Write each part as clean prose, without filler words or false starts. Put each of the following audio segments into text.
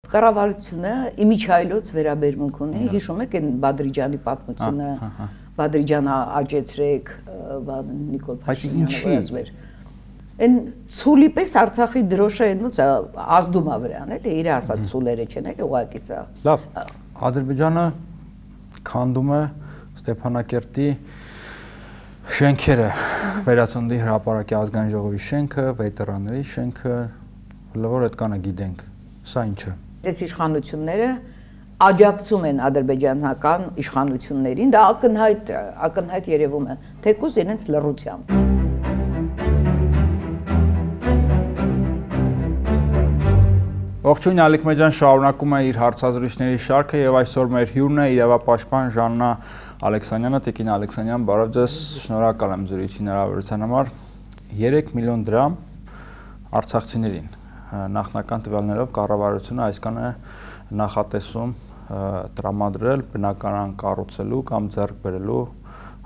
Կառավարությունը իմիջայլոց վերաբերմունք ունի, հիշում եք այն Բադրիջանի պատմությունը, Բադրիջանը աճեցրեք, Նիկոլ Փաշինյանը ասվեր։ Այն ցուլի պես Արցախի դրոշը այնուց ազդում է վրան, էլի իր ասած ցուլերը չեն, էլի ուղղակի սա։ Լավ, Ադրբեջանը քանդում է Ստեփանակերտի շենքերը, Վերածննդի հրապարակի ազգային ժողովի շենքը, վետերանների շենքը, լավ այդ կանը գիտենք, սա ինչը։ Այս իշխանությունները աջակցում են ադրբեջանական իշխանություններին, դա ակնհայտ երևում է, թեկուզ իրենց լռությամբ։ Ողջույն, Ալիք Մեջան շարունակում է իր հարցազրույցների շարքը եւ այսօր մեր հյուրն է իրավապաշտպան Ժաննա Ալեքսանյանը, Տիկին Ալեքսանյան, բարև ձեզ, շնորհակալ եմ զրույցի հնարավորության համար։ 3 միլիոն դրամ արցախցիներին նախնական տվյալներով կառավարությունը այսքան է նախատեսում տրամադրել բնակարան կառուցելու կամ ձեռք բերելու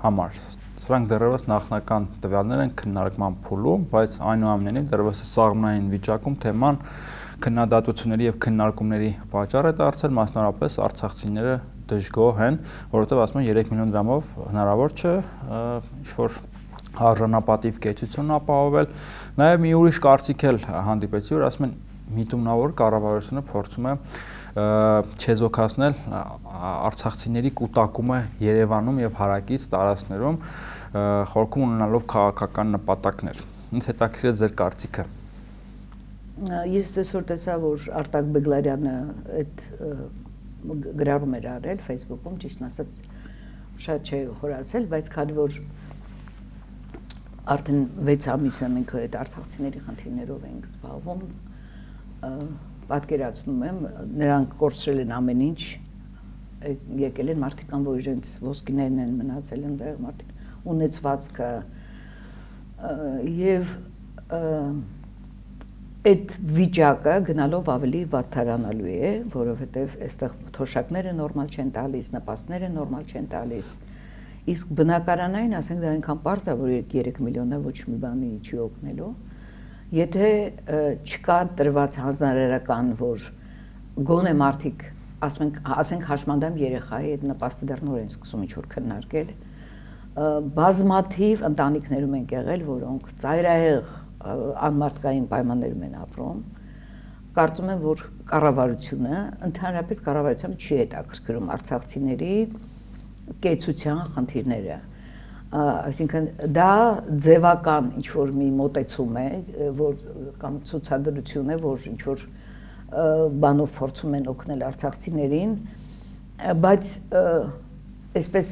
համար։ Սրանք դեռևս նախնական տվյալներ են քննարկման փուլում, բայց այնուամենայնիվ դեռևս սաղմնային վիճակում թեման քննադատությունների եւ քննարկումների պատճառ է դարձել, մասնավորապես արցախցիները դժգոհ են, որովհետեւ ասում են 3 միլիոն դրամով հնարավոր չէ ինչ-որ արժանապատիվ կեցություն ապահովել։ Նաեւ մի ուրիշ կարծիք էլ հանդիպեցի, որ ասում են միտումնավոր կառավարությունը փորձում է չեզոքացնել արցախցիների կուտակումը Երևանում եւ հարակից տարածքներում, խորքում ունենալով քաղաքական նպատակներ։ Ինձ հետաքրքիր է ձեր կարծիքը։ Ես այսօր տեսա, որ Արտակ Բեգլարյանը այդ գրառում էր արել Facebook-ում, ճիշտն ասած շատ չէ խորացել, բայց քանի որ արդեն 6 ամիս է մենք այդ արցախցիների խնդիրներով ենք զբաղվում, պատկերացնում եմ, նրանք կորցրել են ամեն ինչ, եկել են մարդիկ կան, որ իրենց ոսկիներն են մնացել այնտեղ, մարդիկ ունեցվածքը եւ այդ վիճակը գնալով ավելի վատթարանալու է, որովհետև այստեղ թոշակները նորմալ չեն տալիս, նպաստները նորմալ չեն տալիս, իսկ բնակարանային, ասենք դա այնքան պարզ է, որ 3 միլիոնը ոչ մի բանի չի օգնելու, եթե չկա տրված հանձնարարական, որ գոնե մարդիկ, ասենք հաշմանդամ երեխայի այդ նպաստը դեռ նոր են սկսում ինչ-որ քննարկել, բազմաթիվ ընտանիքներում են եղել, որոնք ծայրահեղ անմարդկային պայմաններում են ապրում, կարծում եմ, որ կառավարությունը, ընդհանրապես կառավարությունը չի հետաքրքրում արցախցիների կեցության խնդիրները, այսինքն դա ձևական ինչ-որ մի մոտեցում է, կամ ցուցադրություն է, որ ինչ-որ բանով փորձում են օգնել արցախցիներին, բայց այսպես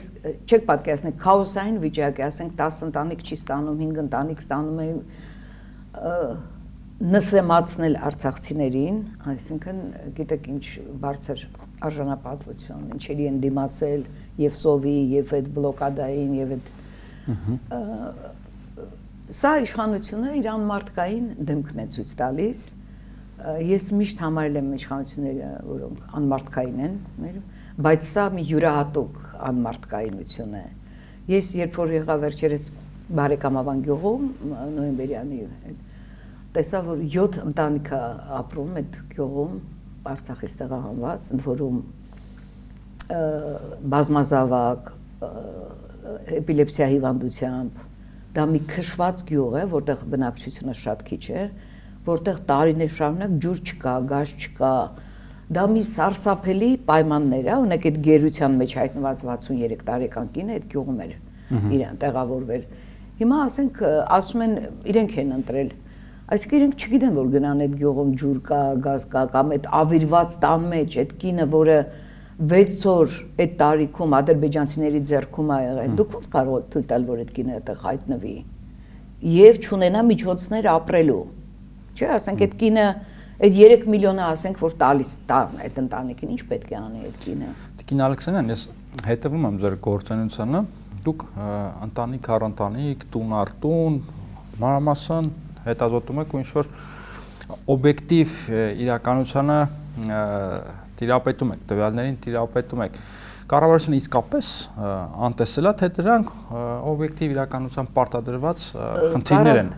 չեք պատկերացնեք, քաոսային վիճակ է, ասենք 10 ընտանիք չի ստանում, 5 ընտանիք ստանում է նսեմացնել արցախցիներին, այսինքն գիտեք ինչ բարձր արժանապատվություն, ինչերի են դիմացել եւ սովի, եւ այդ բլոկադային, եւ այդ սա իշխանությունը իր անմարդկային դեմքն է ցույց տալիս, ես միշտ համարել եմ իշխանությունները, որոնք անմարդկային են, բայց սա մի յուրահատուկ անմարդկայնություն է, ես երբ որ եղա վերջերս Բարեկամավան գյուղում, նոյեմբերյանի տեսա, որ 7 ընտանիք է ապրում այդ գյուղում, Արցախից տեղահանված, ընդ որում բազմազավակ, էպիլեպսիա հիվանդությամբ, դա մի քշված գյուղ է, որտեղ բնակչությունը շատ քիչ է, որտեղ տարիներ շարունակ ջուր չկա, գազ չկա, դա մի սարսափելի պայմաններ է, ունեք այդ գերության մեջ հայտնված 63 տարեկան կինը այդ գյուղում էր իրեն տեղավորվել։ Հիմա ասենք ասում են իրենք են ընտրել, այսինքն իրենք չգիտեն, որ գնան այդ գյուղում ջուր կա, գազ կա, կամ այդ ավիրված տան մեջ այդ կինը, որը 6 օր այդ տարիքում ադրբեջանցիների ձեռքում ա եղել, դուք ո՞նց կարող եք թույլ տալ, որ այդ կինը այդտեղ հայտնվի եւ չունենա միջոցներ ապրելու։ Չէ, ասենք այդ կինը այդ 3 միլիոնը ասենք, որ տալիս տան այդ ընտանիքին, ինչ պետք է անի այդ կինը։ Տիկին Ալեքսանյան, ես հետևում եմ ձեր գործունեությանը, դուք ընտանիք առ ընտանիք, տուն առ տուն, մանրամասն հետազոտում եք ու ինչ-որ օբյեկտիվ իրականությանը տիրապետում եք, տվյալներին տիրապետում եք։ Կառավարությունը իսկապես անտեսել է, թե դրանք օբյեկտիվ իրականության պարտադրված խնդիրներ են։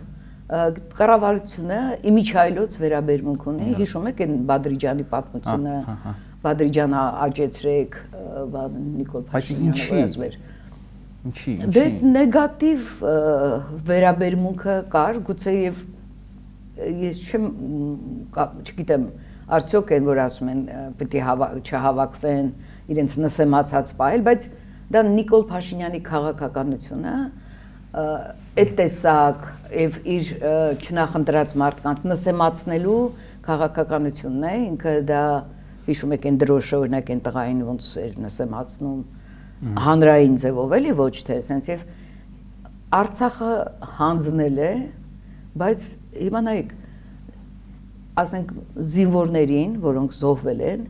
կառավարությունը իմիջայլոց վերաբերմունք ունի, հիշում եք այն Բադրիջանի պատմությունը, Բադրիջանը աճեցրեք, Նիկոլ Փաշինյանը ասվեր։ Ինչի։ Դե նեգատիվ վերաբերմունքը կար, գուցե եւ ես չգիտեմ, արդյոք են որ ասում են պետք է չհավաքվեն, իրենց նսեմացած պահել, բայց դա Նիկոլ Փաշինյանի քաղաքականությունը այդ տեսակ եւ իր չնախընտրած մարդկանց նսեմացնելու քաղաքականությունն է, ինքը դա հիշում եք այն դրոշը օրինակ այն տղային ոնց էր նսեմացնում հանրային ձևով էլի ոչ թե sense եւ Արցախը հանձնել է, բայց հիմա նայեք ասենք զինվորներին, որոնք զոհվել են,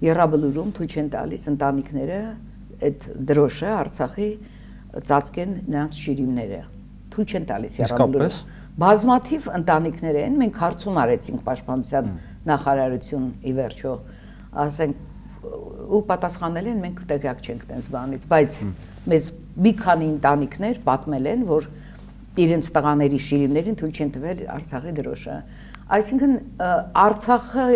Եռաբլուրում թույլ չեն տալիս ընտանիքները այդ դրոշը Արցախի ծածկեն նրանց շիրիմները, թույլ չեն տալիս Եռաբլուրում։ Բազմաթիվ ընտանիքներ են, մենք հարցում արեցինք Պաշտպանության նախարարություն ի վերջո, ասենք ու պատասխանել են մենք տեղյակ չենք տենց բանից, բայց մեզ մի քանի ընտանիքներ պատմել են, որ իրենց տղաների շիրիմներին թույլ չեն տվել Արցախի դրոշը։ Այսինքն Արցախը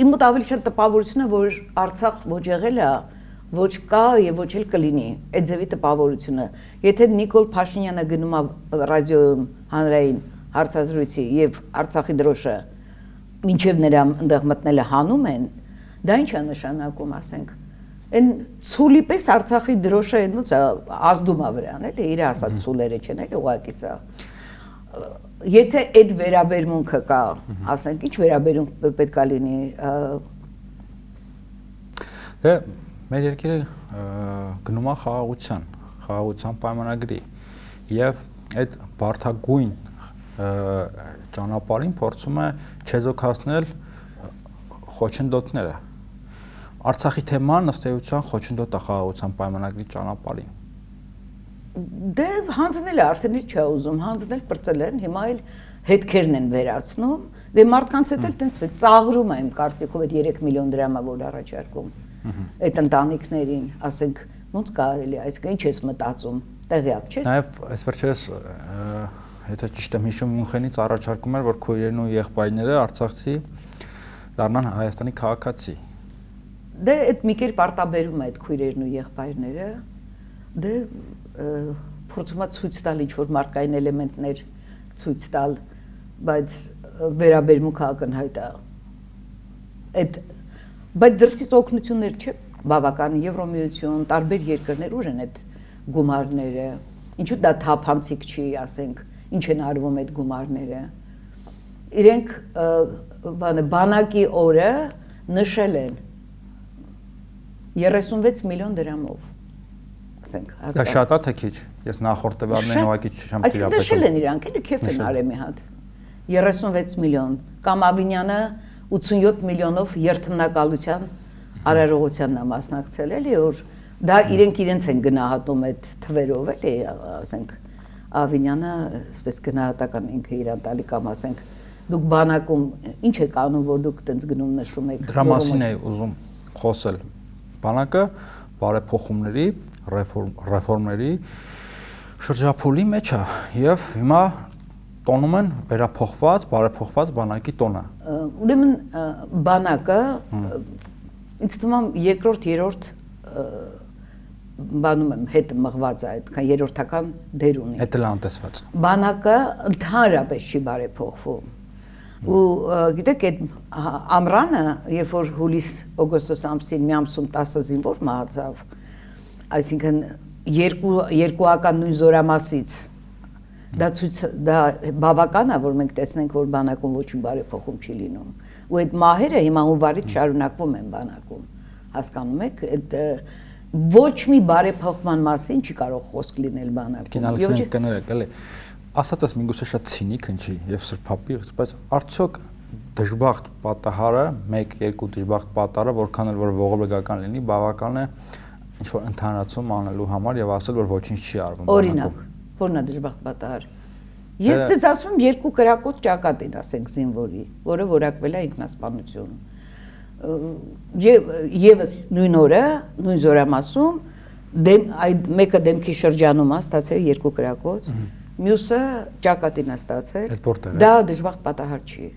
իմ մոտ ավելի շատ տպավորությունը, որ Արցախ ոչ եղել է, ոչ կա եւ ոչ էլ կլինի այդ ձևի տպավորությունը։ Եթե Նիկոլ Փաշինյանը գնում է ռադիոյում հանրային հարցազրույցի եւ Արցախի դրոշը մինչեւ նրա այնտեղ մտնելը հանում են, դա ինչ է նշանակում, ասենք, այն ցուլի պես Արցախի դրոշը այնուց ազդում է վրան, էլի, իր ասած ցուլերը չեն, էլի ուղղակի սա։ Եթե այդ վերաբերմունքը կա, ասենք, ինչ վերաբերմունք պետք է լինի։ Դե մեր երկիրը գնում է խաղաղության պայմանագրի եւ այդ բարդագույն ճանապարհին փորձում է չեզոքացնել խոչընդոտները։ Արցախի թեման ըստ էության խոչընդոտ է խաղաղության պայմանագրի ճանապարհին։ Դե հանձնել է, արդեն ինչ չէ ուզում, հանձնել բրծել են, հիմա էլ հետքերն են վերացնում, դե մարդկանց հետ էլ տենց ծաղրում է իմ կարծիքով այդ 3 միլիոն դրամը, որ առաջարկում այդ ընտանիքներին, ասենք, ոնց կարելի է, այսինքն ինչ ես մտածում, տեղյակ չես։ Նաև այս վերջերս, եթե ճիշտ եմ հիշում, Մյունխենից առաջարկում էր, որ քույրերն ու եղբայրները Արցախցի դառնան Հայաստանի քաղաքացի։ Դե այդ մի կերպ արտաբերում է այդ քույրերն ու եղբայրները, դե փորձում է ցույց տալ ինչ-որ մարդկային էլեմենտներ ցույց տալ, բայց վերաբերմունքը ակնհայտ է։ Այդ բայց դրսից օգնություններ չէ, բավական Եվրոմիություն, տարբեր երկրներ ուր են այդ գումարները, ինչու դա թափանցիկ չի, ասենք, ինչ են արվում այդ գումարները։ Իրենք բանակի օրը նշել են 36 միլիոն դրամով։ Ասենք, դա շատ է թե քիչ։ Ես նախորդ տվյալներին ուղղակի չեմ տիրապետում։ Այսինքն նշել են իրանք, էլի քեֆ են արել մի հատ։ 36 միլիոն, կամ Ավինյանը 87 միլիոնով երթմնակալության արարողությանն է մասնակցել, էլի, որ դա իրենց են գնահատում այդ թվերով, էլի, ասենք, Ավինյանը այսպես գնահատական ինքը իրան տալի կամ ասենք, դուք բանակում ինչ եք անում, որ դուք տենց գնում նշում եք։ Դրա մասին է ուզում խոսել։ Բանակը բարեփոխումների, ռեֆորմների շրջափուլի մեջ է եւ հիմա տոնում են վերափոխված, բարեփոխված բանակի տոնը։ Ուրեմն բանակը ինձ թվում է երկրորդ, երրորդ բանում եմ հետ մղված է, այդքան երրորդական դեր ունի։ Դա էլ անտեսված։ Բանակը ընդհանրապես չի բարեփոխվում։ Ու գիտեք այդ ամռանը, երբ որ հուլիս-օգոստոս ամսին մի ամսում 10 զինվոր մահացավ, այսինքն երկուական նույն զորամասից դա բավական է, որ մենք տեսնենք, որ բանակում ոչ մի բարեփոխում չի լինում։ Ու այդ մահերը հիմա հունվարից շարունակվում են բանակում։ Հասկանում եք, այդ ոչ մի բարեփոխման մասին չի կարող խոսք լինել բանակում։ Եվ կներեք, էլի ասածս միգուցե շատ ցինիկ հնչի եւ սրբապիղծ, բայց արդյոք դժբախտ պատահարը, 1-2 դժբախտ պատահարը, որքան էլ որ ողորմական լինի, բավական է ինչ որ ընդհանրացում անելու համար եւ ասել, որ ոչինչ չի արվում։ Օրինակ, որն է դժբախտ պատահար։ Ես ձեզ ասում եմ 2 կրակոտ ճակատին, ասենք զինվորի, որը որակվել է ինքնասպանություն։ Եվս նույն օրը, նույն զորամասում այդ մեկը դեմքի շրջանում է ստացել 2 կրակոց, մյուսը ճակատին է ստացել։ Այդ որտեղ է։ Դա դժբախտ պատահար չի։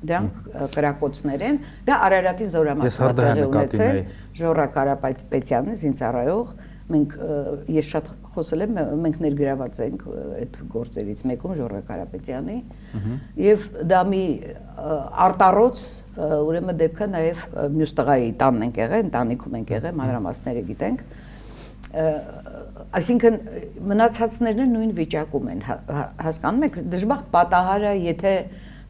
Դրանք կրակոցներ են, դա Արարատի զորամասը ունեցել Ժորա Կարապետյանը զինծառայող, ես շատ խոսել եմ, մենք ներգրաված ենք այդ գործերից մեկում Ժորա Կարապետյանի, եւ դա մի արտառոց, ուրեմն դեպքը նաեւ մյուս տղայի տանն ենք եղել, ընտանիքում ենք եղել, մանրամասները գիտենք, այսինքն մնացածներն նույն վիճակում են, հասկանում եք, դժբախտ պատահարը, եթե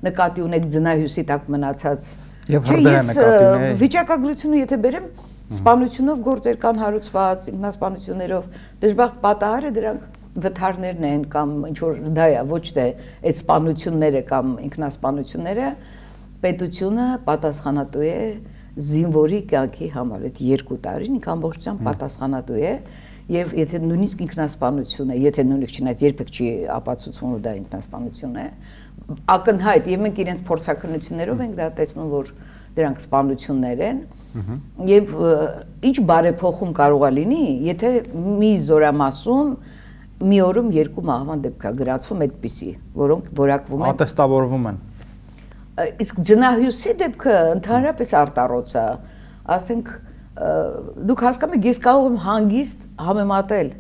նկատի ունեք ձնահյուսի տակ մնացած եւ հրդեհ նկատի ունեք վիճակագրությունը եթե բերեմ սպանությունով գործեր կան հարուցված ինքնասպանություններով դժբախտ պատահարը դրանք վթարներն են կամ ինչ որ դա է ոչ թե այդ սպանությունները կամ ինքնասպանությունները պետությունը պատասխանատու է զինվորի կյանքի համար այդ 2 տարին ինք ամբողջությամբ պատասխանատու է եւ եթե նույնիսկ ինքնասպանություն է եթե նույնիսկ չնայած երբեք չի ապացուցվում որ դա ինքնասպանություն է ակնհայտ եւ մենք իրենց փորձակնություններով ենք դա տեսնում որ դրանք սպանություններ են եւ ինչ բարեփոխում կարող է լինի եթե մի զորամասում մի օրում 2 մահվան դեպք է գրանցվում այդպիսի որոնք որակվում են ատեստավորվում են իսկ ձնահյուսի դեպքը ընդհանրապես արտառոց է ասենք դուք հասկանում եք ես կարող եմ հանգիստ համեմատել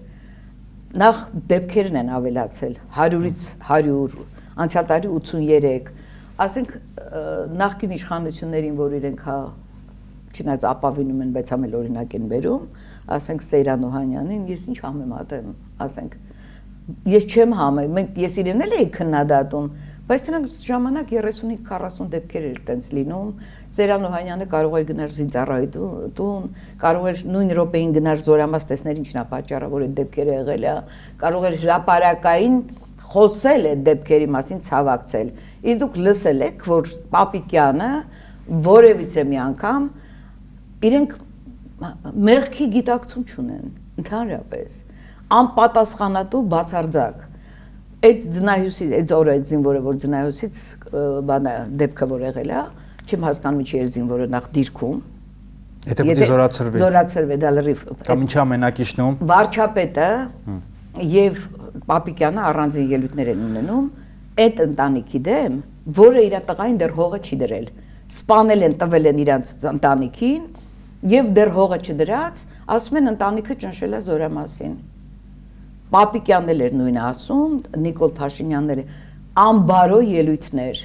նախ դեպքերն են ավելացել 100-ից 100 անցյալ տարի 83 ասենք նախկին իշխանություններին որ իրենք հա չնայած ապավինում են բայց ամեն օրինակ են բերում ասենք Սեյրան Օհանյանին ես ինչ համեմատեմ ասենք ես չեմ մենք ես իրեն էլ էի քննադատում բայց նրանք ժամանակ 35-40 դեպքեր էր տենց լինում Սեյրան Օհանյանը կարող էր գնալ զինծառայի տուն կարող էր նույն րոպեին գնալ զորամաս տեսնել ինչն է պատճառը որ այդ դեպքերը եղել է կարող էր հրապարակային խոսել այդ դեպքերի մասին ցավակցել իսկ դուք լսել եք որ Պապիկյանը որևիցե մի անգամ իրենք մեղքի գիտակցում չունեն ընդհանրապես անպատասխանատու բացարձակ այդ ձնահյուսի այդ օրը այդ զինվորը որ ձնահյուսից բանը դեպքը որ եղել է չեմ հասկանում ինչի էր զինվորը նախ դիրքում եթե պետք է զորացրվի դա լրիվ կամ ինչա մենակիչնում վարչապետը եւ Պապիկյանը առանձին ելույթներ են ունենում այդ ընտանիքի դեմ որը իր տղային դեռ հողը չի դրել սպանել են տվել են իրանց ընտանիքին եւ դեռ հողը չդրած ասում են ընտանիքը ճնշել է զորամասին Պապիկյանն էլ էր նույնը ասում Նիկոլ Փաշինյանն էլ անբարո ելույթներ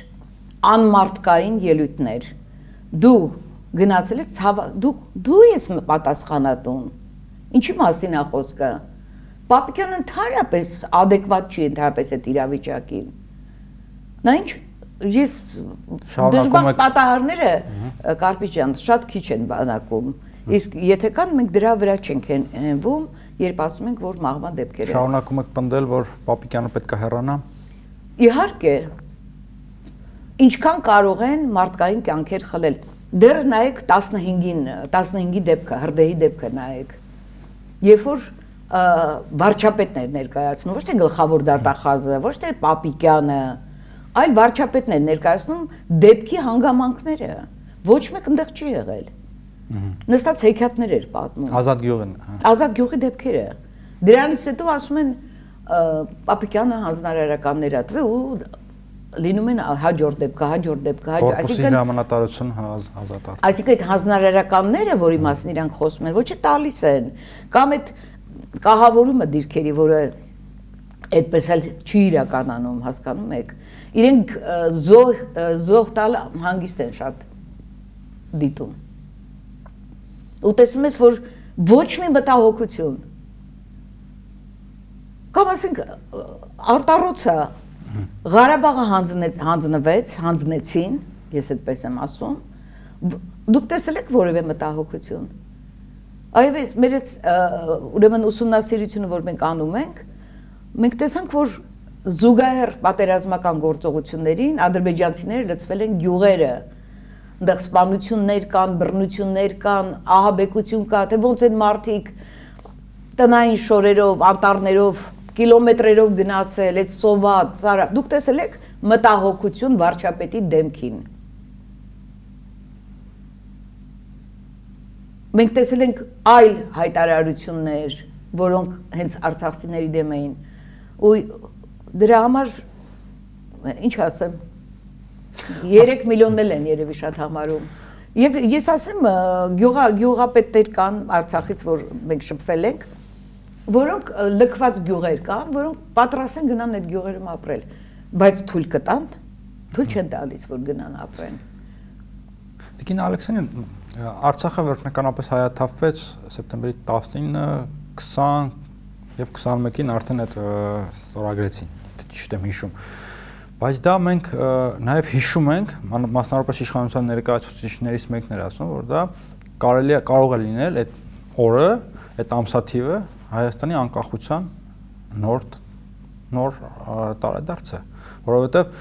անմարտկային ելույթներ դու գնացել ես դու ես պատասխանատուն ինչի մասին է խոսքը Պապիկյանը ընդհանրապես adekvat չի ընդհանրապես այդ իրավիճակին նա ինչ ես դժբախտ պատահարները Կարպիչ ջան շատ քիչ են բանակում իսկ եթե կան մենք դրա վրա չենք հենվում երբ ասում ենք որ մահվան դեպքեր են շարունակում եք պնդել որ Պապիկյանը պետք է հեռանա իհարկե ինչքան կարող են մարդկային կյանքեր խլել դեռ նայեք 15-ի դեպքը հրդեհի դեպքը նայեք երբ որ վարչապետներ ներկայացնում ոչ թե գլխավոր դատախազը ոչ թե Պապիկյանը այլ վարչապետներ ներկայացնում դեպքի հանգամանքները ոչ մեկ այնտեղ չի եղել նստած հեքիաթներ էր պատմում Ազատ գյուղի դեպքերը դրանից հետո ասում են Պապիկյանը հանձնարարականներ ա տվել ու լինում են հաջորդ դեպքը այսինքն հրամանատարություն ազատ այսինքն այդ հանձնարարականները որի մասին իրանք խոսում են ոչ թե տալիս են կամ այդ կահավորումը դիրքերի որը այդպես էլ չի իրականանում հասկանում եք իրենք զոհ տալ հանգիստ են շատ դիտում ու տեսնում ես որ ոչ մի մտահոգություն կամ ասենք արտառոցը Ղարաբաղը հանձնեցին ես այդպես եմ ասում դուք տեսել եք որևէ մտահոգություն այվես մեր ուրեմն ուսումնասիրությունը որ մենք անում ենք մենք տեսանք որ զուգահեռ պատերազմական գործողություններին ադրբեջանցիները լցվել են գյուղերը այնտեղ սպանություններ կան բռնություններ կան ահաբեկություն կա թե ոնց են մարդիկ տնային շորերով անտառներով կիլոմետրերով գնացել այդ սոված ծառա դուք տեսել եք մտահոգություն վարչապետի դեմքին մենք տեսել ենք այլ հայտարարություններ որոնք հենց արցախցիների դեմ էին ու Դրա համար ինչ ասեմ 3 միլիոնն են երևի շատ համարում եւ ես ասեմ գյուղապետներ կան Արցախից որ մենք շփվել ենք որոնք լքված գյուղեր կան որոնք պատրաստ են գնան այդ գյուղերում ապրել բայց թույլ կտան թույլ չեն տալիս որ գնան ապրեն Տիկին Ալեքսանյան Արցախը վերջնականապես հայաթափվեց սեպտեմբերի 19 20 եւ 21-ին արդեն այդ ստորագրեցին ճիշտ եմ հիշում Բայց դա մենք նաև հիշում ենք, մասնավորապես իշխանության ներկայացուցիչներից մեկն էր ասում, որ դա կարող է լինել այդ օրը, այդ ամսաթիվը Հայաստանի անկախության նոր տարեդարձը, որովհետև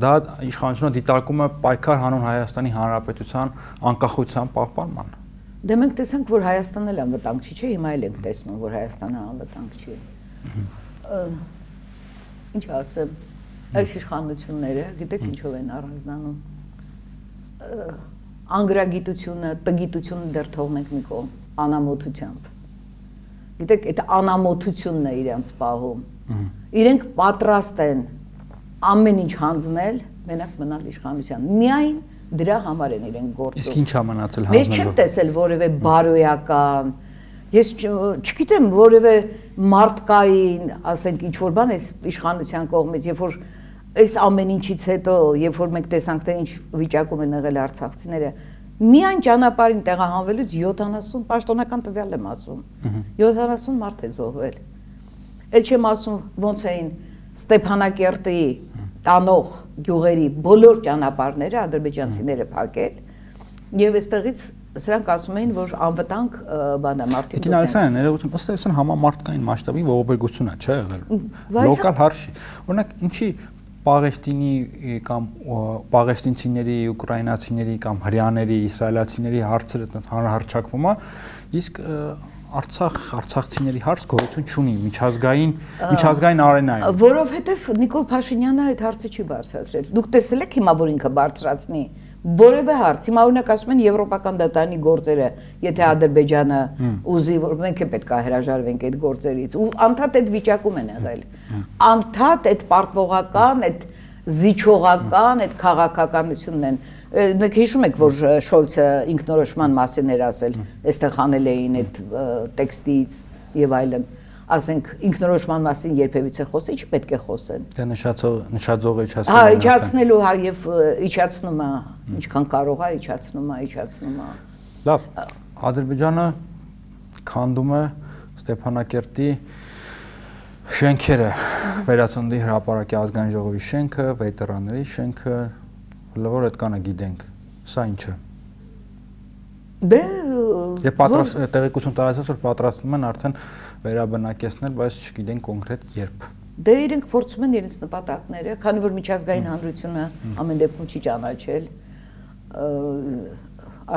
դա իշխանությունը դիտարկում է պայքար հանուն Հայաստանի Հանրապետության անկախության պահպանման։ Դե մենք տեսանք, որ Հայաստանն էլ անվտանգ չի, չէ՞, հիմա էլ ենք տեսնում, որ Հայաստանը անվտանգ չի։ Ինչ ասեմ Այս իշխանությունները, գիտեք ինչով են առանձնանում, անգրագիտությունը, տգիտությունը դեռ թողնենք մի կողմ, անամոթությամբ։ Գիտեք, այդ անամոթությունն է իրենց պահում։ Իրենք պատրաստ են ամեն ինչ հանձնել, մենակ մնալ իշխանության։ Միայն դրա համար են իրենք գործում։ Իսկ ինչ է մնացել հանձնելու։ Ես չեմ տեսել որևէ բարոյական, ես չգիտեմ որևէ մարդկային, ասենք ինչ որ բան է իշխանության կողմից, երբ որ այս ամեն ինչից հետո, երբ որ մենք տեսանք թե ինչ վիճակում են եղել արցախցիները, միայն ճանապարհին տեղահանվելուց 70 պաշտոնական տվյալ եմ ասում։ 70 մարդ է զոհվել։ Էլ չեմ ասում ոնց էին Ստեփանակերտի տանող գյուղերի բոլոր ճանապարհները ադրբեջանցիները փակել եւ այստեղից Սրանք ասում էին, որ անվտանգ բան է մարդիկ։ Տիկին Ալեքսանյան, ներողություն, ըստ էության համամարտկային մասշտաբի ողբերգություն է, չէ՞ եղել։ Լոկալ հարցի։ Օրինակ, ինչի Պաղեստինի կամ պաղեստինցիների, ուկրաինացիների կամ հրեաների, իսրայելացիների հարցերը հանրահարչակվում է, իսկ արցախցիների հարց գոյություն չունի միջազգային արենայում։ Որովհետև Նիկոլ Փաշինյանը այդ հարցը չի բարձրացրել։ Դուք տեսել եք հիմա որ ինքը բարձրացնի Որևէ հարց, հիմա օրինակ ասում են եվրոպական դատարանի գործերը, եթե Ադրբեջանը ուզի, որ մենք է պետք է հրաժարվենք այդ գործերից, ու անդադ այդ վիճակում են եղել։ Անդադ այդ պարտվողական, այդ զիջողական, այդ քաղաքականությունն են։ Մենք հիշում ենք, որ Շոլցը ինքնորոշման մասին էր ասել, այստեղ հանել էին այդ տեքստից եւ այլն։ Ասենք ինքնորոշման մասին երբևիցե խոսի, չի պետք է խոսեն։ Դե նշաձողը իջացնում է։ Հա, իջացնելու, հա, եւ իջացնում է, ինչքան կարող է, իջացնում է։ Լավ, Ադրբեջանը քանդում է Ստեփանակերտի շենքերը, Վերածննդի հրապարակի ազգային ժողովի շենքը, վետերանների շենքը, լավ այդ կանը գիտենք։ Սա ինչ է։ Դե տեղեկություն տարածած որ պատրաստվում են արդեն վերաբնակեցնել, բայց չգիտեն կոնկրետ երբ։ Դե իրենք փորձում են իրենց նպատակները, քանի որ միջազգային հանրությունը ամեն դեպքում չի ճանաչել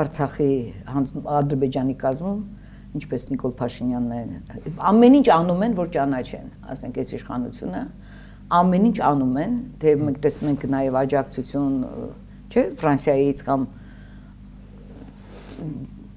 Արցախի Ադրբեջանի կազմում, ինչպես Նիկոլ Փաշինյանն է, ամեն ինչ անում են, որ ճանաչեն, ասենք այս իշխանությունը, ամեն ինչ անում են, թե մենք տեսնում ենք նաև աջակցություն, չէ, Ֆրանսիայից կամ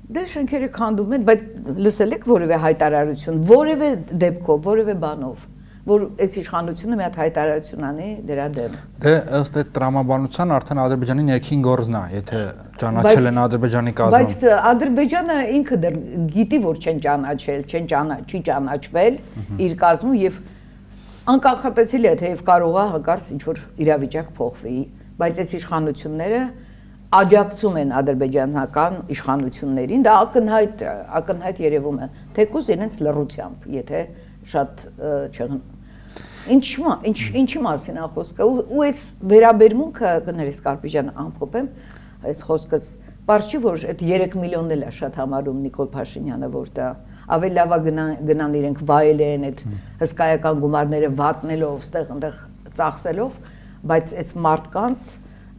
Դե շենքերը քանդում են, բայց լսել եք որևէ հայտարարություն, որևէ դեպքով, որևէ բանով, որ այս իշխանությունը մի հատ հայտարարություն անի դրա դեմ։ Դե ըստ այդ տրամաբանության արդեն Ադրբեջանի ներքին գործն է, եթե ճանաչել են Ադրբեջանի կազմում։ Բայց Ադրբեջանը ինքը դեռ գիտի, որ չեն ճանաչել, չի ճանաչվել իր կազմում եւ անկախատեսելի է, թեև կարող է հանկարծ ինչ-որ իրավիճակ փոխվի, բայց այս իշխանությունները աջակցում են ադրբեջանական իշխանություններին, դա ակնհայտ երևում է, թեկուզ իրենց լռությամբ, եթե շատ չեղն։ Ինչի մասին է խոսքը, ու այս վերաբերմունքը, կներես Կարպիջան ամփոփեմ, այս խոսքս, պարզ չի, որ այդ 3 միլիոնն էլ է շատ համարում Նիկոլ Փաշինյանը, որ դա ավելի լավ է գնան իրենք վայելեն այդ հսկայական գումարները վատնելով, ստեղ ծախսելով, բայց այս մարդկանց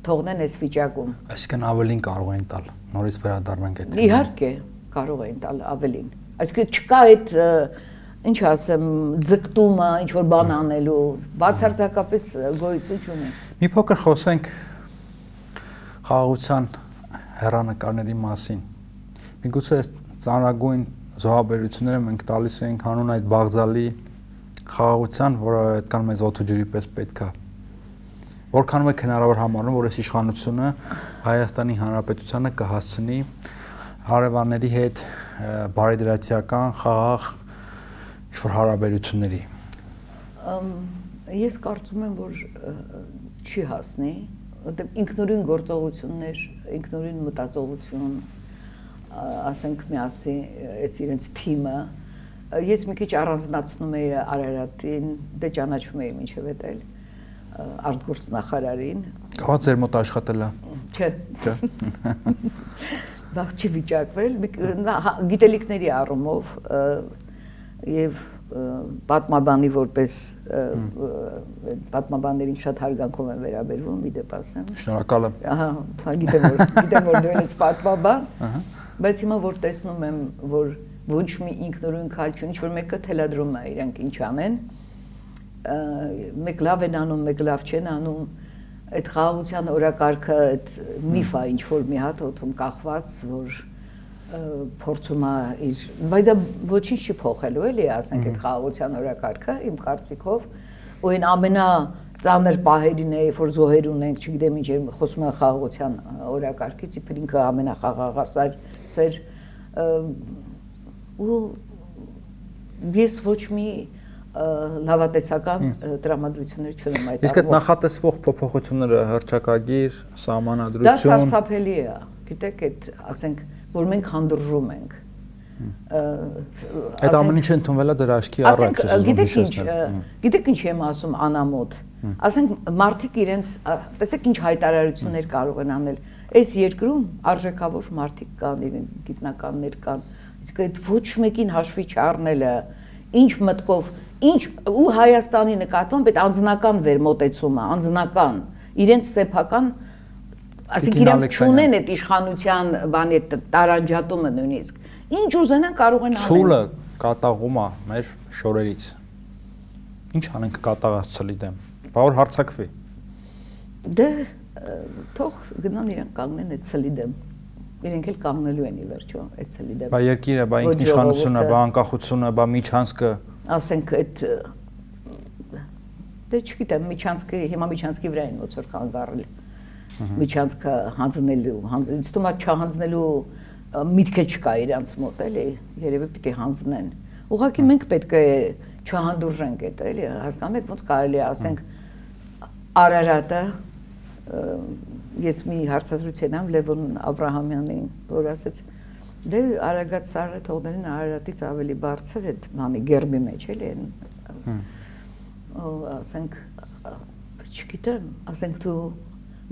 թողնեն այս վիճակում։ Այսինքն ավելին կարող են տալ, նորից վերադառնանք այդ։ Իհարկե, կարող են տալ ավելին։ Այսինքն չկա այդ, ինչ ասեմ, ձգտումը, ինչ որ բան անելու, բացարձակապես գոյություն չունի։ Մի փոքր խոսենք խաղաղության հեռանկարների մասին։ Միգուցե ծանրագույն զոհաբերությունները մենք տալիս ենք հանուն այդ Բաղձալի խաղաղության, որը այդքան մեզ օդը ջրի պես պետք է։ Որքանով է հնարավոր համարում, որ այս իշխանությունը Հայաստանի Հանրապետությանը կհասցնի հարևանների հետ բարեդրացիական խաղաղ ինչ-որ հարաբերությունների։ Ես կարծում եմ, որ չի հասնի, որտեղ ինքնուրույն գործողություններ, ինքնուրույն մտածողություն, ասենք միասին այդ իրենց թիմը, ես մի քիչ առանձնացնում էի Արարատին, դե ճանաչում էի մինչև էտել արտգործնախարարին։ Կարող ձեր մոտ աշխատել է։ Չէ։ Բախ չի վիճակվել, գիտելիքների առումով եւ պատմաբանի որպես պատմաբաններին շատ հարգանքով են վերաբերվում, մի դեպ ասեմ։ Շնորհակալ եմ։ Ահա, գիտեմ որ դու ես պատմաբան, բայց հիմա որ տեսնում եմ, որ ոչ մի ինքնուրույն քայլ չունի, ինչ-որ մեկը թելադրում է իրանք ինչ անեն, մեկ լավ են անում, մեկ լավ չեն անում, այդ խաղաղության օրակարգը, այդ միֆա ինչ-որ մի հատ օդում կախված, որ փորձում է իր, բայց դա ոչինչ չի փոխելու էլի, ասենք այդ խաղաղության օրակարգը իմ կարծիքով, ու այն ամենածանր պահերին է, որ զոհեր ունենք, չգիտեմ ինչ եմ խոսում եմ խաղաղության օրակարգից, իբր ինքը ամենախաղաղասեր ու ես ոչ մի լավատեսական տրամադրություններ չունեմ այդ։ Իսկ այդ նախատեսվող փոփոխությունները հռչակագիր, սահմանադրություն։ Դա սարսափելի է, գիտեք, այդ ասենք որ մենք հանդուրժում ենք։ Այդ ամեն ինչը ընդունվել է դրա աչքի առաջ։ Գիտեք ինչ եմ ասում անամոթ։ Ասենք մարդիկ իրենց, տեսեք ինչ հայտարարություններ կարող են անել։ Այս երկրում արժեքավոր մարդիկ կան, իրենք գիտնականներ կան։ Իսկ այդ ոչ մեկին հաշվի չառնելը, ինչ մտքով, ինչ ու Հայաստանի նկատմամբ այդ անձնական վերմոտեցումը, անձնական, իրենց սեփական ասենք իրենք չունեն այդ իշխանության բանի տարանջատումը նույնիսկ։ Ինչ ուզենան կարող են անել։ Ցուլը կատաղում է մեր շորերից։ Ինչ անենք կատաղած ցլի դեմ։ Բա որ հարցակվի։ Դե թող գնան իրենք կանգնեն այդ ցլի դեմ։ Իրենք էլ կանգնելու են ի վերջո այդ ցլի դեմ։ Բա երկիրը, բա ինքնիշխանությունը, բա անկախությունը, բա միջանցքը։ Ասենք այդ դե չգիտեմ, միջանցքը հիմա միջանցքի վրա են ոնց որ կանգառել։ Միջանցքը հանձնելու, ինձ թվում է չհանձնելու միտքը չկա իրանց մոտ, էլի, երևի պիտի հանձնեն։ Ուղղակի մենք պետք է չհանդուրժենք այդ, էլի, հասկանում եք ոնց կարելի է ասենք Արարատը, ես մի հարցազրույց եմ Լևոն Աբրահամյանին, որ ասեց, դե Արագած Սարը թողներին Արարատից ավելի բարձր է բանի գերբի մեջ, էլի, ասենք, չգիտեմ, ասենք դու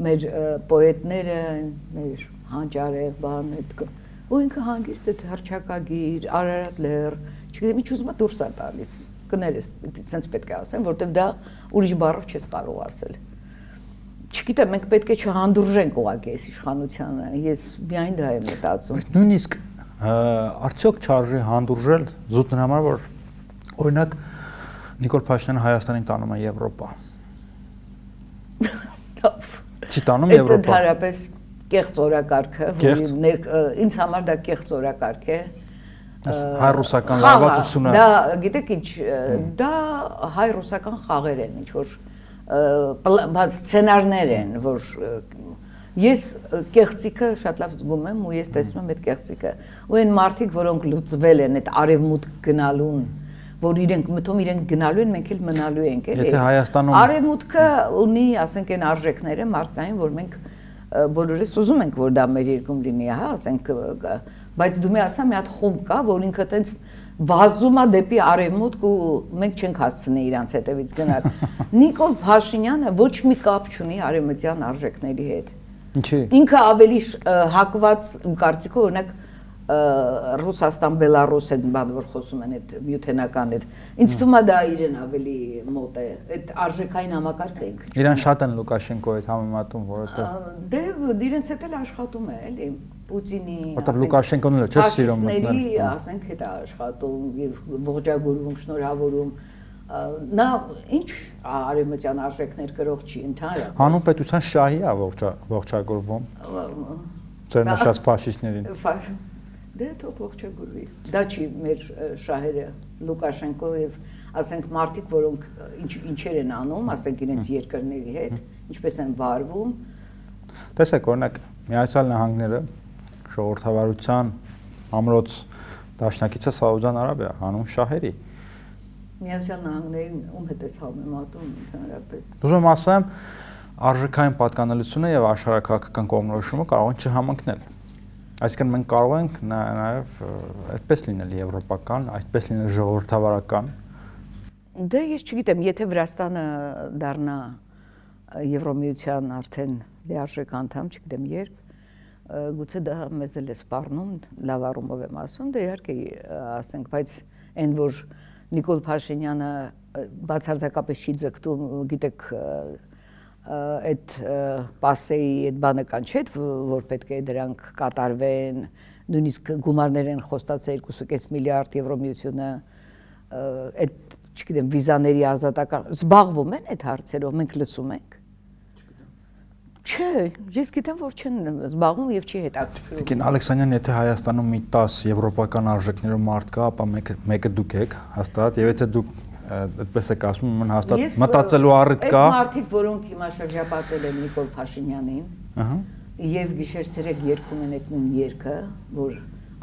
մեր պոետները, մեր հանճարեղ բան, ու ինքը հանգիստ այդ հռչակագիր, Արարատ լեռ, չգիտեմ, ինչ ուզում է դուրս է տալիս, կներես, սենց պետք է ասեմ, որտեվ դա ուրիշ բառով չես կարող ասել։ Չգիտեմ, մենք պետք է չհանդուրժենք ուղղակի այս իշխանությանը, ես միայն դա եմ մտածում։ Նույնիսկ արդյոք չարժի հանդուրժել զուտ նրա համար, որ օրինակ Նիկոլ Փաշինյանը Հայաստանին տանում է Եվրոպա։ Չի տանում Եվրոպա։ Այդ ընդհանրապես կեղծ օրակարգը, ինձ համար դա կեղծ օրակարգ է։ Հայ-ռուսական լավացությունը։ Դա գիտեք ինչ, դա հայ-ռուսական խաղեր են, ինչ որ սցենարներ են, որ ես կեղծիկը շատ լավ զգում եմ ու ես տեսնում եմ այդ կեղծիկը։ Ու այն մարդիկ, որոնք լուծվել են այդ արևմուտք գնալուն, որ իրենք մտում իրենք գնալու են, մենք էլ մնալու ենք, էլի։ Եթե Հայաստանում արևմուտքը ունի, ասենք, այն արժեքները մարդկային, որ մենք բոլորս ուզում ենք, որ դա մեր երկրում լինի, հա, ասենք, բայց դու մի ասա մի հատ խումբ կա, որ ինքը տենց վազում է դեպի արևմուտք ու մենք չենք հասցնի իրանց հետևից գնալ։ Նիկոլ Փաշինյանը ոչ մի կապ չունի արևմտյան արժեքների հետ։ Ինչի՞։ Ինքը ավելի հակված կարծիքով օրինակ Ռուսաստան, Բելարուս այդ բան որ խոսում են այդ միութենական այդ ինձ թվում է դա իրեն ավելի մոտ է այդ արժեքային համակարգը ինքը իրան շատ են Լուկաշենկոյի հետ համեմատում որովհետեւ դե իրենց հետ էլ աշխատում է էլի Պուտինի որովհետեւ Լուկաշենկոն էլ չէ սիրում մտնել ասենք հետ է աշխատում եւ ողջագուրվում շնորհավորում նա ինչ արևմտյան արժեքներ գրող չի ընդհանրապես հանուն պետության շահի է ողջագուրվում ձեր նշած ֆաշիստներին Դե թող ողջագուրվի։ Դա չի մեր շահերը Լուկաշենկո եւ ասենք մարդիկ, որոնք ինչեր են անում, ասենք իրենց երկրների հետ, ինչպես են վարվում։ Տեսեք, օրինակ Միացյալ Նահանգները ժողովրդավարության ամրոց դաշնակիցը Սաուդյան Արաբիա, հանուն շահերի։ Միացյալ Նահանգներին ում հետ է համեմատում ընդհանրապես։ Ուզում եմ ասեմ, արժեքային պատկանելությունը եւ աշխարհակաղակական կողմնորոշումը կարող են չհամընկնել։ Այսինքն մենք կարող ենք նաեւ այդպես լինել եվրոպական, այդպես լինել ժողովրդավարական։ Դե ես չգիտեմ, եթե Վրաստանը դառնա Եվրոմիության արդեն լիարժեք անդամ, չգիտեմ երբ, գուցե դա մեզ էլ է սպառնում, լավ առումով եմ ասում, դե իհարկե ասենք, բայց այն որ Նիկոլ Փաշինյանը բացարձակապես չի ձգտում, գիտեք, այդ պասեի այդ բանը կան չէ, որ պետք է դրանք կատարվեն, նույնիսկ գումարներ են խոստացել 2.5 միլիարդ Եվրոմիությունը, այդ չգիտեմ, վիզաների ազատական, զբաղվում են այդ հարցերով, մենք լսում ենք։ Չէ, ես գիտեմ, որ չեն զբաղվում եւ չի հետաքրքրում։ Տիկին Ալեքսանյան, եթե Հայաստանում մի 10 եվրոպական արժեքներով մարդ կա, ապա մեկը դուք եք, հաստատ, եւ եթե դուք այդպես եք ասում, ուրեմն հաստատ մտածելու առիթ կա։ Այդ մարդիկ, որոնք հիմա շրջապատել են Նիկոլ Փաշինյանին, եւ գիշեր-ցերեկ երգում են այդ նույն երգը, որ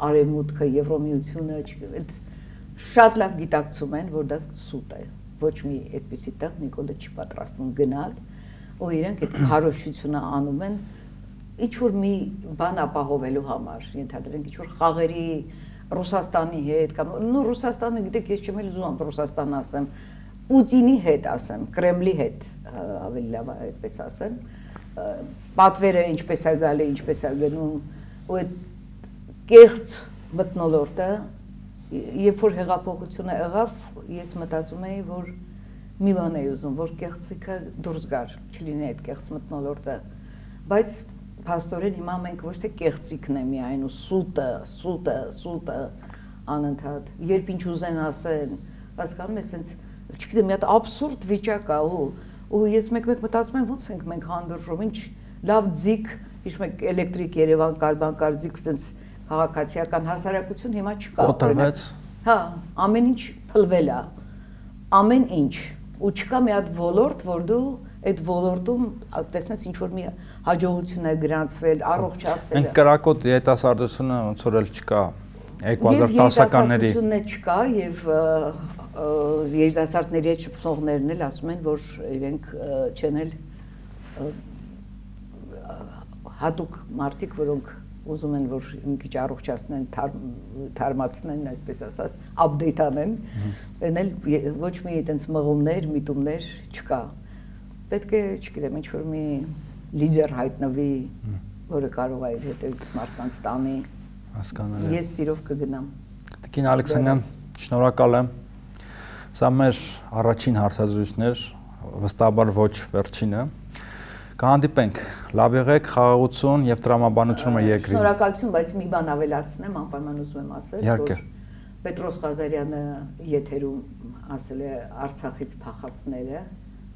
արևմուտքը, Եվրոմիությունը, այդ շատ լավ գիտակցում են, որ դա սուտ է։ Ոչ մի այդպիսի տեղ Նիկոլը չի պատրաստվում գնալ, ու իրենք այդ քարոզչությունը անում են ինչ որ մի բան ապահովելու համար, ենթադրենք ինչ որ խաղերի Ռուսաստանի հետ կամ նո Ռուսաստանը գիտեք ես չեմ էլ ուզում Ռուսաստան ասեմ, Պուտինի հետ ասեմ, Կրեմլի հետ ավելի լավ է այդպես ասեմ, պատվերը ինչպես է գալի, ինչպես է գնում, ու այդ կեղծ մթնոլորտը, երբ որ հեղափոխությունը եղավ, ես մտածում էի, որ մի բան էի ուզում, որ կեղծիքը դուրս գար, չլինի այդ կեղծ մթնոլորտը, բայց փաստորեն հիմա մենք ոչ թե կեղծիքն է միայն ու սուտը անընդհատ, երբ ինչ ուզեն ասեն, հասկանում ես, sense, չգիտեմ, մի հատ աբսուրդ վիճակ է ու ես մեկ-մեկ մտածում եմ ոնց ենք մենք հանդուրժում, ինչ լավ ձիգ, հիշում եք էլեկտրիկ Երևան կար, բան կար ձիգ, sense քաղաքացիական հասարակություն հիմա չկա։ Կոտրվեց։ Հա, ամեն ինչ փլվել է։ Ամեն ինչ ու չկա մի հատ ոլորտ, որ դու այդ ոլորտում տեսնես ինչ որ մի հաջողություն է գրանցվել, առողջացել է։ Մենք կրակոտ երիտասարդությունը ոնց որ էլ չկա 2010-ականների։ Երիտասարդությունը չկա եւ երիտասարդների հետ շփումներն էլ ասում են, որ իրենք չեն էլ հատուկ մարդիկ, որոնք ուզում են, որ մի քիչ առողջացնեն, թարմացնեն, այսպես ասած, update անեն, այն էլ ոչ մի այդպես մղումներ, միտումներ չկա։ Պետք է, չգիտեմ, ինչ-որ մի լիդեր հայտնվի, որը կարող է իր հետևից մարդկանց տանի։ Հասկանալի։ Ես սիրով կգնամ։ Տիկին Ալեքսանյան, շնորհակալ եմ։ Սա մեր առաջին հարցազրույցն էր, վստահաբար ոչ վերջինը։ Կհանդիպենք, լավ եղեք, խաղաղություն եւ տրամաբանություն երկրին։ Շնորհակալություն, բայց մի բան ավելացնեմ, անպայման ուզում եմ ասել, որ Պետրոս Ղազարյանը եթերում ասել է Արցախից փախածները։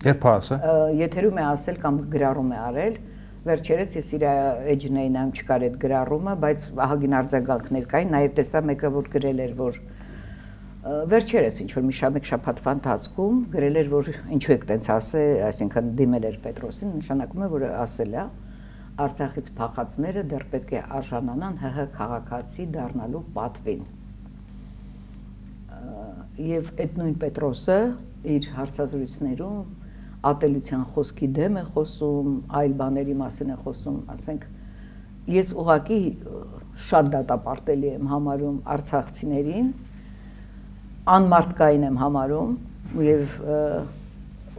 Երբ ասել։ Եթերում է ասել կամ գրառում է արել, վերջերս ես իր էջն էի նայում չկար այդ գրառումը, բայց ահագին արձագանքներ կային, նաեւ տեսա մեկը որ գրել էր, որ վերջերս ինչ որ մի շաբաթվա ընթացքում գրել էր, որ ինչու եք տենց ասել, այսինքն դիմել էր Պետրոսին, նշանակում է, որ ասել է Արցախից փախածները դեռ պետք է արժանանան ՀՀ քաղաքացի դառնալու պատվին։ Եվ այդ նույն Պետրոսը իր հարցազրույցներում ատելության խոսքի դեմ է խոսում, այլ բաների մասին է խոսում, ասենք ես ուղղակի շատ դատապարտելի եմ համարում արցախցիներին, անմարդկային եմ համարում եւ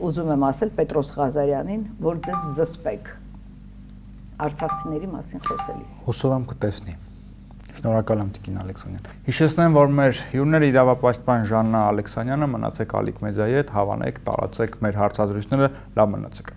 ուզում եմ ասել Պետրոս Ղազարյանին, որ դες զսպեք արցախցիների մասին խոսելիս։ Հուսով եմ կտեսնի։ Շնորհակալ եմ Տիկին Ալեքսանյան։ Հիշեցնեմ, որ մեր հյուրները իրավապաշտպան Ժաննա Ալեքսանյանը, մնացեք Ալիք մեդիայի հետ, հավանեք, տարածեք մեր հարցազրույցները, լավ մնացեք։